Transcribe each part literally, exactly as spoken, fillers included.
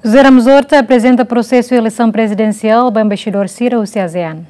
José Ramos Horta aprezenta prosesu eleisaun prezidensiál ba embaixadór sira husi ASEAN.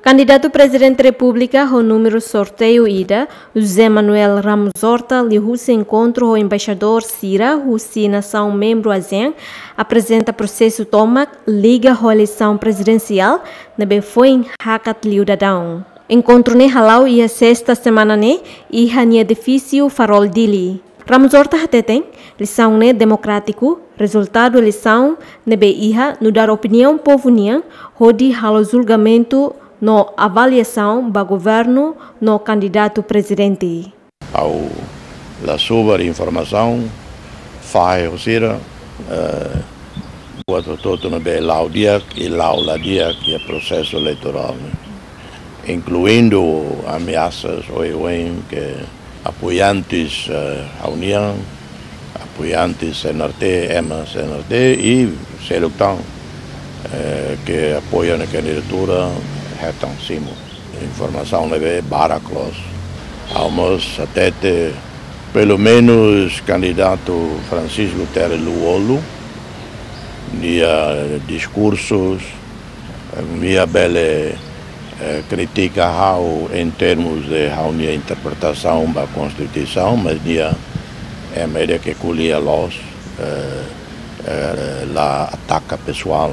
Kandidatu Prezidente Repúblika ho númeru sorteiu ida, José Manuel Ramos Horta, liuhusi enkontru ho embaixadór sira husi nasaun membru ASEAN, aprezenta prosesu tomak liga ho eleisaun prezidensiál ne'ebé foin hakat liu daudaun. Enkontru ne'e hala'o iha sesta semana ne'e iha nia edifísiu Farol Dili. Ramos Horta hateten, eleisaun ne'e demokrátiku, rezultadu eleisaun ne'ebé iha nu'udar opiniaun povu nian hodi halo julgamentu no avaliasaun ba governu no kandidatu prezidente. Ha'u la subar informasaun, fahe ho sira, eh, buat hotu-hotu ne'ebé la'o di'ak i la'o la di'ak iha prosesu eleitorál ne'e. Inkluindu ameasas oioin ke apoiantes, eh, ha'u-nian, apoiantes C N R T, ema C N R T i seluk tan, eh, ke apoia nia kandidatura hetan simu. Informasaun ne'ebé barak loos. Ha'u mós hatete, pelumenus kandidatu Francisco Guterres Lú-Olo, nia diskursus, nia bele, eh, kritika ha'u em termos de ha'u-nia interpretasaun ba Konstituisaun, mas nia ema ida ke ko'alia loos, eh, eh, la ataka pesoál.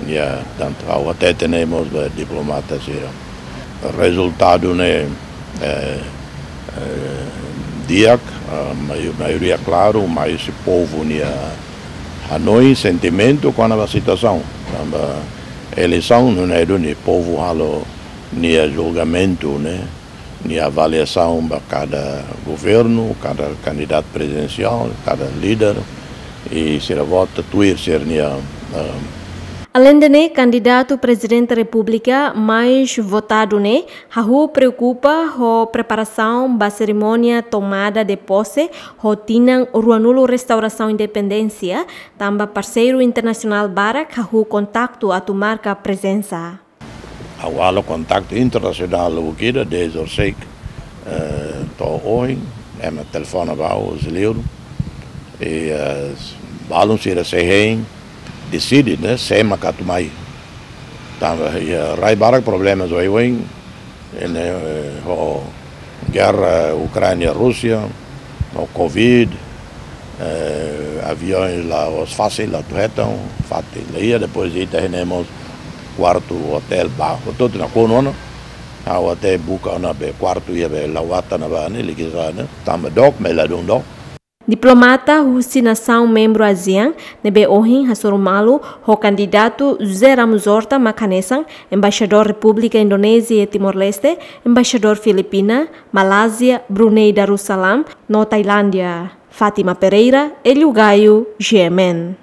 Nia, tantu ha'u hatete ne'e mós ba diplomata sira. Rezultadu ne'e, eh, eh, di'ak, eh, mai-, maioria klaru, mas se povu nia hanoin, sentimentu kona-ba situasaun. Tanba eleisaun nune'e duni povu halo nia julgamentu ne'e, nia avaliasaun ba kada governu, kada kandidatu prezidensiál, kada líder, i sira vota tuir sira-nia, eh, Aleinde ne'e, kandidatu Prezidente Repúblika mais votadu ne'e hahú preokupa ho preparasaun ba serimónia tomada de pose ho tinan ruanulu restaurasaun independénsia, tanba parseiru internasionál barak hahú kontaktu atu marka prezensa. Ha'u halo kontaktu internasionál lubuk ida, dezde Orsay, eh, to'o ohin, ema telefona ba ha'u, husi liur. I, eh, balun sira sei hein, deside, ne'e, sé mak atu mai. Tanba, eh, rai barak problemas oioin, ne'e, eh, ho gerra Ukránia, Rúsia, no covid, eh, aviaun la'ós fasil atu hetan, fatin la iha, depois ita hein mós kuartu otél ba, hotu-hotu nakonu ona, ha'u até buka ona be kuartu iha be la'o atan ne'ebá ne'e, likisa ne'e, tanba dook, mas la dún dook. Diplomata husi nasaun membru ASEAN ne'ebé ohin hasoru malu ho kandidatu José Ramos Horta mak hanesan Embaixadór Repúblika Indonézia iha Timor-Leste, Embaixadór Filipina, Malázia, Brunei Darussalam, no Tailándia. Fátima Pereira, Hélio Gaio, G M N.